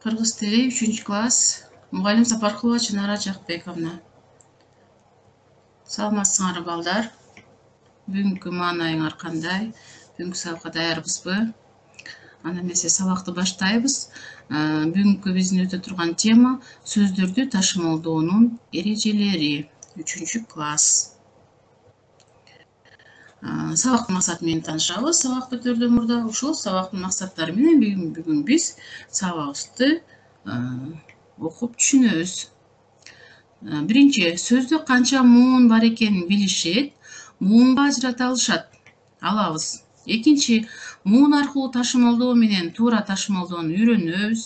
Кыргыз тили 3-класс. Мугалим Сапаркулова Чынара Жакбековна. Саламатсыңарбы балдар? Бүгүнкү маанайыңар кандай? Бүгүнкү сабакка даярбызбы? Анда эмесе сабакты баштайбыз. Бүгүнкү биздин өтө турган тема сөздөрдү ташымалдоонун эрежелери. 3-класс. Сабактын максаты менен таанышабыз. Сабак өтөрдөн мурда ушул сабактын максаттары менен бүгүн биз сабагыбызды окуп түшүнөбүз. Биринчи, сөздө канча муун бар экенин билишет, муунга ажырата алабыз. Экинчи, муун аркылуу ташымалдоо менен туура ташымалдоону үйрөнөбүз.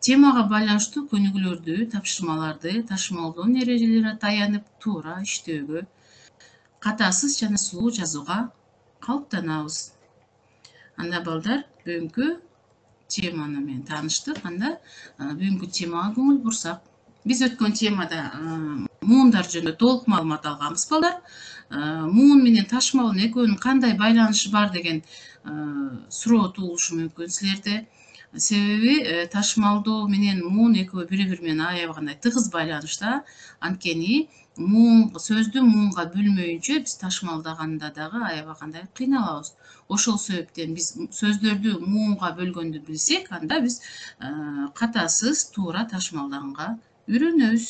Темага байланыштуу көнүгүүлөрдү, тапшырмаларды ташымалдоонун эрежелерине таянып туура иштөөгө, катасыз жана сулуу жазууга калыптанабыз. Анда балдар, бүгүнкү теманы менен тааныштык. Анда бүгүнкү темага көңүл бурсак, биз өткөн темада муундар жөнүндө толук маалымат алганбыз балдар. Муун менен ташымалдын экөөнүн кандай байланышы бар деген суроо туулушу мүмкүн силерде. Себеби ташымалдоо менен муун экөө бири-бири менен аябагандай тыгыз байланышта. Анткени сөздү муунга бөлмөйүнчө биз ташымалдаганда дагы аябагандай кыйналабыз. Ошол себептен биз сөздөрдү муунга бөлгөндү билсек, анда биз катасыз туура ташымалдаганга үйрөнөбүз.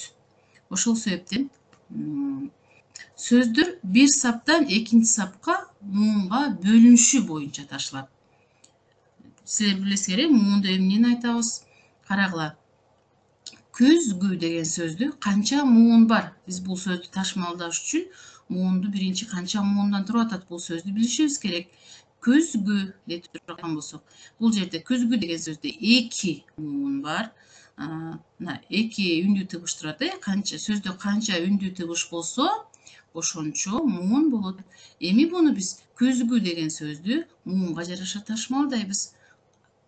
Ошол себептен сөздөр бир саптан экинчи сапка муунга бөлүнүшү боюнча ташылат. Силер билесиңер, муунду эмнени айтабыз? Карагыла. Көзгү деген сөздү канча муун бар? Биз бул сөздү ташымалдаш үчүн муунду биринчи канча муундан туруп атат? Бул сөздү билишибиз керек. Көзгү деп турган болсок, бул жерде көзгү деген сөздө 2 муун бар. Мына 2 үндүү тыбыш турат, сөздө канча үндүү тыбыш болсо, ошончо муун болот. Эми буну биз көзгү деген сөздү муунга жараша ташымалдайбыз.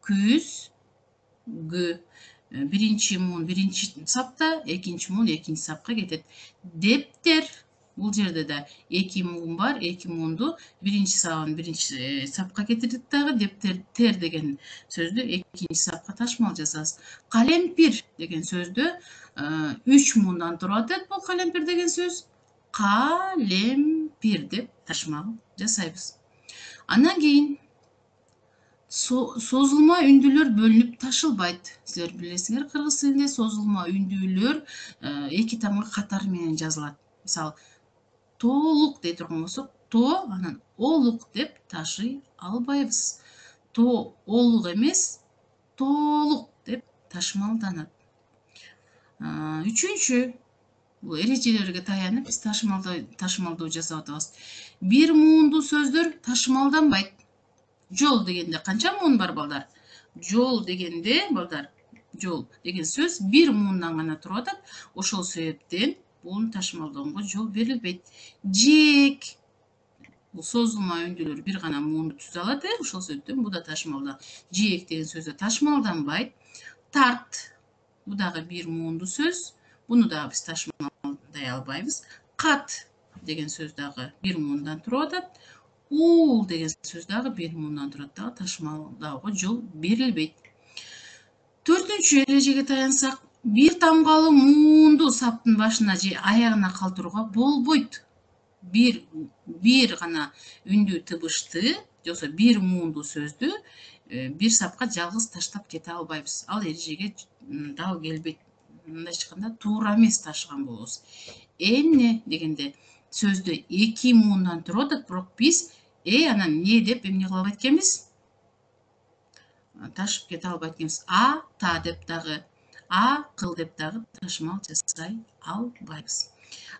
Көзгү. Биринчи муун биринчи сапта, экинчи муун экинчи сапка кетет. Дептер. Бул жерде да 2 муун бар. 2 муунду биринчи сабын биринчи сапка кетирдик дагы. Дептер деген сөздү экинчи сапка ташымал жасабыз. Калемпир деген сөздү 3 муундан туруп атат. Бул калемпир деген сөз. Калемпир деп ташымал жасайбыз. Андан кийин созулма үндүүлөр бөлүнүп ташылбайт. Силер билесиңер, кыргыз тилинде созулма үндүүлөр 2 тамга катары менен жазылат. Мисалы, толук дей турган болсок, то анан олук деп ташый албайбыз. То олук эмес, толук деп ташымалданат. Үчүнчү, бул эрежелерге таянып биз ташымалдоо жасап атабыз. Бир муунду сөздөр ташымалданбайт. Жол дегенде канча муун бар балдар? Жол дегенде балдар, жол деген сөз бир муундан гана туруп атат. Ошол себептен буну ташымалдоого жол берилбейт. Жээк. Бул созулма үндүүлөр бир гана муунду түзө алат, ошол себептен бу да ташымалдан. Жээк деген сөз да ташымалданбайт. Тарт. Бу дагы бир муунду сөз. Буну дагы биз ташымалдай албайбыз. Кат деген сөз дагы бир муундан туруп атат. Уул деген сөз дагы бир муундан турат, дагы ташымалдаого жол берилбейт. Төртүнчү эрежеге таянсак, бир тамгалы муунду саптын башына же аягына калтырууга болбойт. Бир гана үндүү тыбышты, жоксо бир муунду сөздү бир сапка жалгыз таштап кете албайбыз. Ал эрежеге дал келбейт. Мындайча айтканда, туура эмес ташыган болобуз. Эмне дегенде сөздө 2 муундан туруп атат, бирок биз анан не деп эмне кыла албайт экенбиз? Ташып кете албайт экенбиз. Та деп дагы, кыл деп дагы ташымал жасай албайбыз.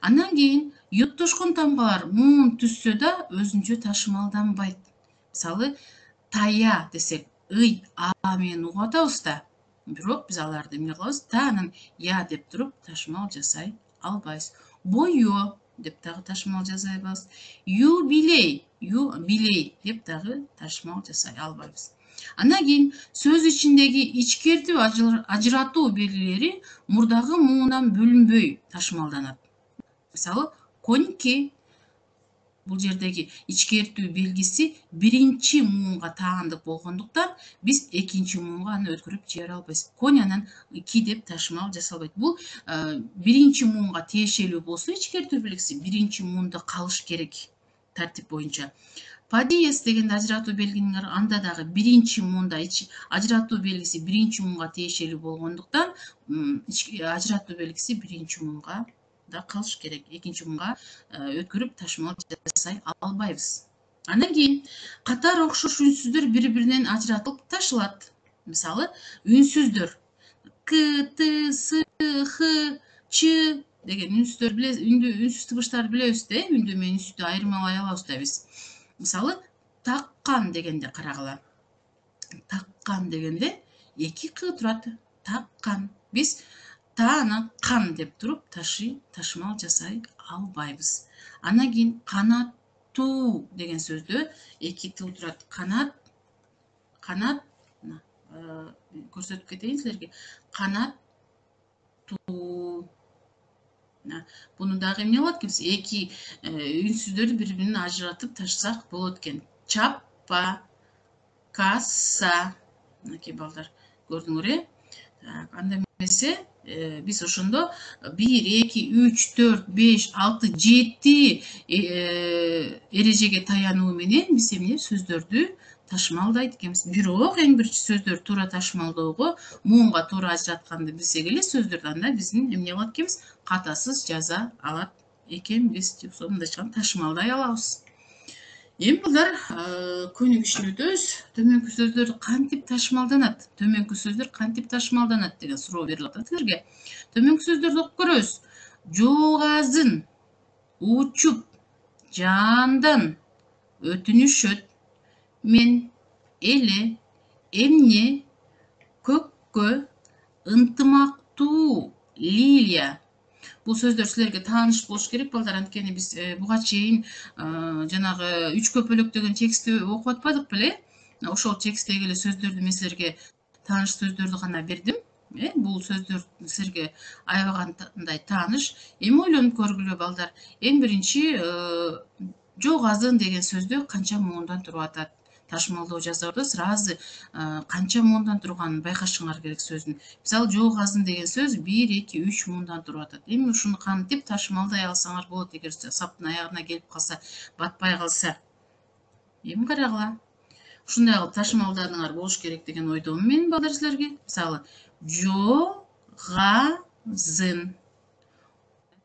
Андан кийин юттушкун тамгалар муун түзсө да өзүнчө ташымалданбайт. Мисалы, тая десек, ый, менен угуп атабыз да. Бирок биз аларды эмне кылабыз? Та анан я деп туруп ташымал жасай албайбыз. Боё деп дагы ташымал жасай албайбыз. Юбилей деп дагы ташымал жасай албайбыз. Андан кийин сөз ичиндеги ичкертүү ажыратуу белгилери мурдагы муундан бөлүнбөй ташымалданат. Мисалы, коньки. Бул жердеги ичкертүү белгиси биринчи муунга таандык болгондуктан биз экинчи муунга аны өткөрүп жибере албайбыз. Конянын ки деп ташмал жасалбайт. Бул биринчи муунга тиешелүү болсо ичкертүү белгиси биринчи муунда калыш керек тартип боюнча. Падиес деген ажыратуу белгинин анда дагы биринчи муунда ажыратуу белгиси биринчи муунга тиешелүү болгондуктан ажыратуу белгиси биринчи муунга да калыш керек. Экинчи муунга өткөрүп ташмал жасай албайбыз. Андан кийин катар окшош үнсүздөр бири-биринен ажыратылып ташылат. Мисалы, үнсүздөр к, т, с, х, ч деген үнсүздөр үнсүз тыбыштарды билебиз да, үндүү менен үнсүздү айырмалай алабыз да биз. Мисалы, таккан дегенде карагыла. Таккан дегенде эки к турат. Таккан. Биз тааны кан деп туруп ташмал жасай албайбыз. Андан кийин канаттуу деген сөздө эки т турат. Канат көрсөтүп кетейин силерге. Канаттуу. Буну дагы эмне болот экен? Эки үнсүздөрдү бири-биринен ажыратып ташсак болот экен. Чаппа, касса. Мынакей балдар, көрдүңөр, анда эмесе биз ошондо 1, 2, 3, 4, 5, 6, 7 эрежеге таянуу менен биз эмне сөздөрдү ташмалдайт экенбиз. Бирок эң биринчи сөздөр туура ташмалdoого муунга туура ажыратканды билсек эле сөздөрдү анда биздин эмне кылат экенбиз? Катасыз жаза алат экенбиз. Мындайча ташмалдай алабыз. Эми балдар, көнүк ишине өтөбүз. Төмөнкү сөздөр кантип ташмалданат? Төмөнкү сөздөр кантип ташмалданат деген суроо берилип атат силерге. Төмөнкү сөздөрдү окуп көрөбүз. Жоогазын, учуп, жаандан, өтүнүшөт, мен, эле, эмне, көккө, ынтымактуу, Лилия. Бул сөздөр силерге тааныш болуш керек балдар, анткени биз буга чейин жанагы 3 көпөлөк деген текстти окуп атпадык беле? Ошол тексттеги эле сөздөрдү мен силерге тааныш сөздөрдү гана бердим. Бул сөздөр силерге аябагандай тааныш. Эми ойлонуп көргүлө балдар. Эң биринчи жоогазын деген сөздү канча муундан туруп атат? Ташмалдоо жасоодо сразу канча муундан турганын байкашыңар керек сөздүн. Мисалы, жоогазын деген сөз 1, 2, 3 муундан туруп атат. Эми ушуну кантип ташмалдай алсаңар болот эгер саптын аягына келип калса, батпай калса. Эми карагыла. Ушундай кылып ташмалданыңар болуш керек деген ойдомун мен балдар силерге. Мисалы, жоогазын,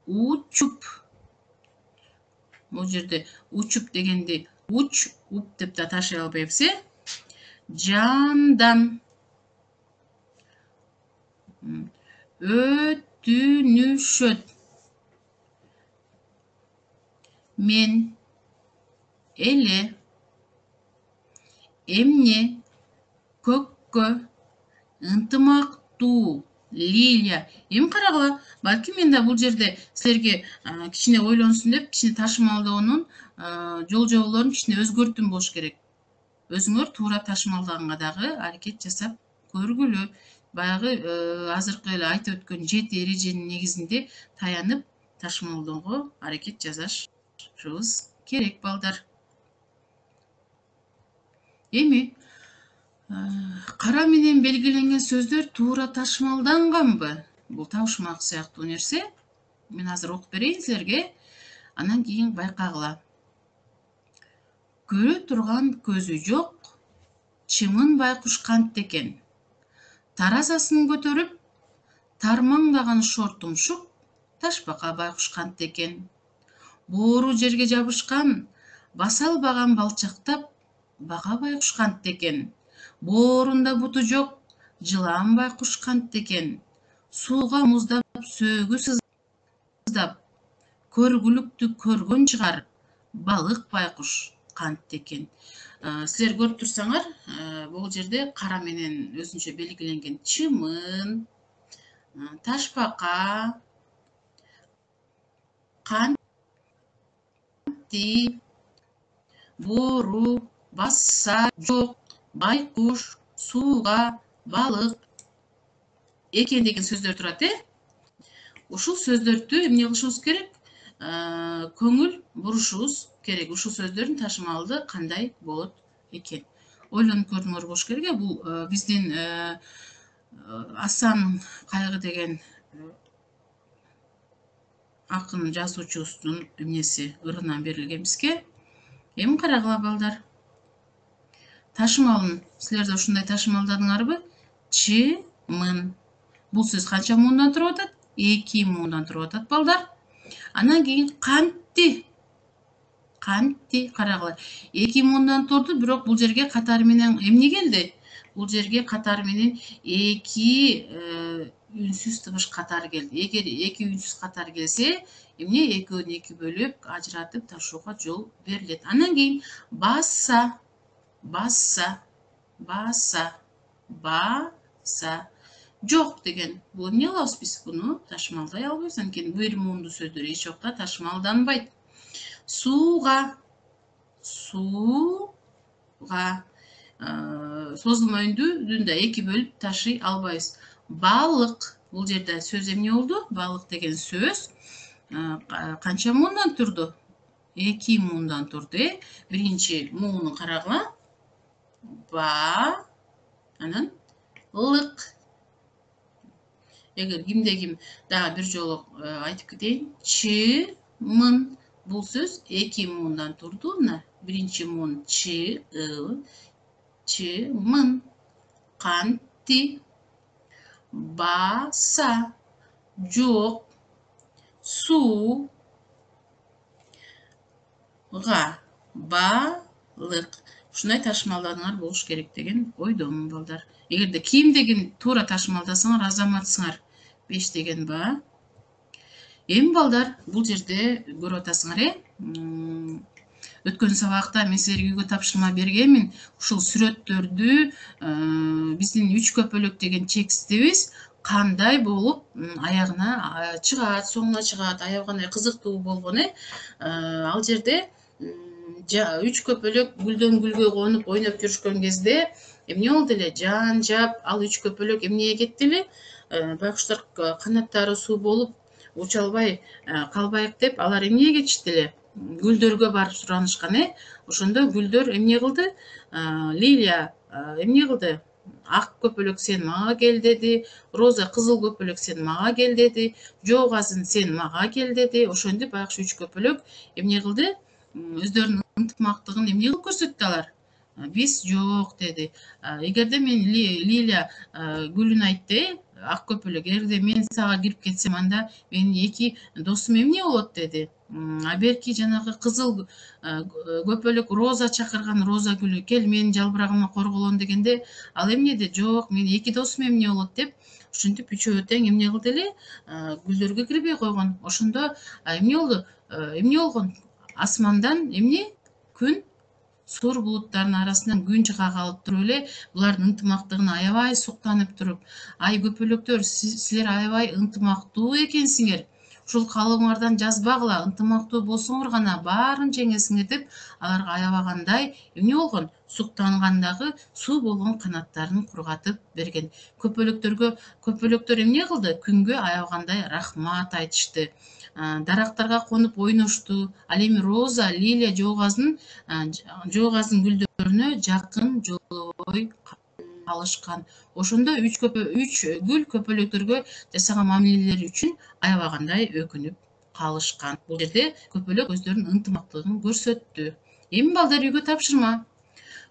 учуп. Бул жерде учуп дегенди уч, уп деп да ташый албайбыз, Жандан, өтүнүшөт, мен, эле, эмне, көккө, ынтымактуу, Лилия. Эми карагыла, балки мен да бул жерде силерге кичине ойлонсун деп, кичине ташмалдоонун жол жоболорун кичине өзгөртүм болуш керек. Өзүңөр туура ташмалдаганга дагы аракет жасап көргүлө. Баягы азыркы эле айтып өткөн 7 эреженин негизинде таянып ташмалdoого аракет жасашыбыз керек балдар. Эми кара менен белгиленген сөздөр туура ташмалданганбы? Бул табышмак сыяктуу нерсе. Мен азыр окуп берейин силерге. Андан кийин байкагыла. Көрө турган көзү жок, чымын байкуш кантты экен. Таразасын көтөрүп, тармаңдаган шортумшук, ташбака байкуш кантты экен. Боору жерге жабышкан, баса албаган балчактап, бага байкуш кантты экен. Боорунда буту жок, жылан байкуш кантты экен. Сууга муздап, сөөгү сыздап, көргүлүктү көргөн чыгар, балык байкуш кантты экен. Силер көрүп турсаңар, бул жерде кара менен өзүнчө белгиленген чымын, ташбака, канти, боору, баса, жок, байкуш, сууга, балык экен деген сөздөр турат, Ушул сөздөрдү эмне кылышыбыз керек? көңүл бурушубуз керек. Ушул сөздөрдүн ташымалды кандай болот экен? Ойлонуп көрүңөр болуш керек. Бул биздин Асан Кайгы деген акын жазуучубуздун эмнеси ырынан берилген бизге. Эми карагыла балдар. Ташымалын силер да ушундай ташымалдадыңарбы? Чымын. Бул сөз канча муундан туруп атат? 2 муундан туруп атат балдар. Анан кийин кантти. Кантти карагыла. 2 муундан турду, бирок бул жерге катары менен эмне келди? Бул жерге катары менен 2 үнсүз табыш катары келди. Эгер 2 үнсүз катары келсе, эмне 2-өн 2 бөлүп, ажыратып ташууга жол берилет. Анан кийин баса, баса, баса, баса. Жок деген. Бул эмне кылабыз биз? Буну ташымалдай албайбыз. Анткени бир муунду сөздөр эч жокта ташымалданбайт. Сууга, сууга. Созулма үндү да 2 бөлүп ташый албайбыз. Балык. Бул жерде сөз эмне болду? Балык деген сөз канча муундан турду? 2 муундан турду. Биринчи муунун карагыла. Ба, анан лык. Эгер кимде ким дагы бир жолу айтып кетейин. Чымын. Бул сөз 2 муундан турду. Биринчи муун чымын. Кантти. Баса. Жок. Сууга. Балык. Ушундай ташымалдадыңар болуш керек деген ойдомун балдар. Эгерде кийимдегин туура ташымалдасаңар азаматсыңар. 5 деген ба. Эми балдар, бул жерде көрүп атасыңар, өткөн сабакта мен силерге үйгө тапшырма бергенмин. Ушул сүрөттөрдү биздин 3 көпөлөк деген текстибиз кандай болуп аягына чыгат, соңуна чыгат, аягы кандай кызыктуу болгон, Ал жерде 3 көпөлөк гүлдөн гүлгө конуп ойноп жүрүшкөн кезде эмне болду эле? Жан жап, ал 3 көпөлөк эмнеге кетти эле? Байкуштар канаттары суу болуп уча албай калбайык деп, алар эмнеге кетишти эле? Гүлдөргө барып суранышкан, Ошондо гүлдөр эмне кылды? Лилия эмне кылды? Ак көпөлөк сен мага кел деди, Роза кызыл көпөлөк сен мага кел деди, Жоогазын сен мага кел деди. Ошентип байкуш 3 көпөлөк эмне кылды? Өздөрүнүн ынтымактыгын эмне кылып көрсөттү алар? Биз жок деди. Эгерде мен Лилия гүлүн айтты, ак көпөлөк, эгерде мен сага кирип кетсем, анда менин 2 досум эмне болот деди. А берки жанагы кызыл көпөлөк Роза чакырган, Роза гүлү кел менин жалбырагыма корголон дегенде, ал эмне деди? Жок, менин 2 досум эмне болот деп, ушинтип үчөө тең эмне кылды эле? Гүлдөргө кирбей койгон. Ошондо эмне болду? Эмне болгон? Асмандан эмне? Күн, сур булуттардын арасынан күн чыга калып туруп эле, булардын ынтымактыгын аябай суктанып туруп, ай көпөлөктөр, силер аябай ынтымактуу экенсиңер. Ушул калыбыңардан жазбагыла, ынтымактуу болсоңор гана баарын жеңесиңер деп, аларга аябагандай эмне болгон? Суктангандагы суу болгон канаттарын кургатып берген. Көпөлөктөр эмне кылды? Күнгө аябагандай рахмат айтышты. Дарактарга конуп ойношту. Ал эми Роза, Лилия Жоогазын гүлдөрүнө жакын жолобой калышкан. Ошондо 3 гүл көпөлөктөргө жасаган мамилелери үчүн аябагандай өкүнүп калышкан. Бул жерде көпөлөк өздөрүнүн ынтымактыгын көрсөттү. Эми балдар, үйгө тапшырма.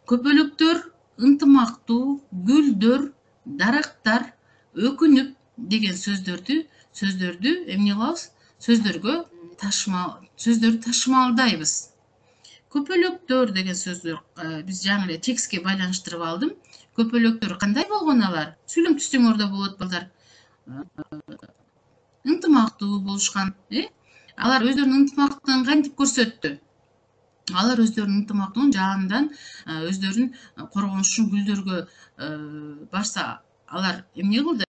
Көпөлөктөр ынтымактуу, гүлдөр, дарактар өкүнүп деген сөздөрдү эмне кылабыз? Сөздөрдү ташымалдайбыз. Көпөлөктөр деген сөздүр биз жаңы эле текстке байланыштырып алдым. Көпөлөктөр кандай болгон алар? Сүйлөм түзсөңөр да болот балдар. Ынтымактуу болушкан, Алар өздөрүнүн ынтымактыгын кантип көрсөттү? Алар өздөрүнүн ынтымактыгын жанынан өздөрүн коргонуш үчүн гүлдөргө барса, алар эмне кылды?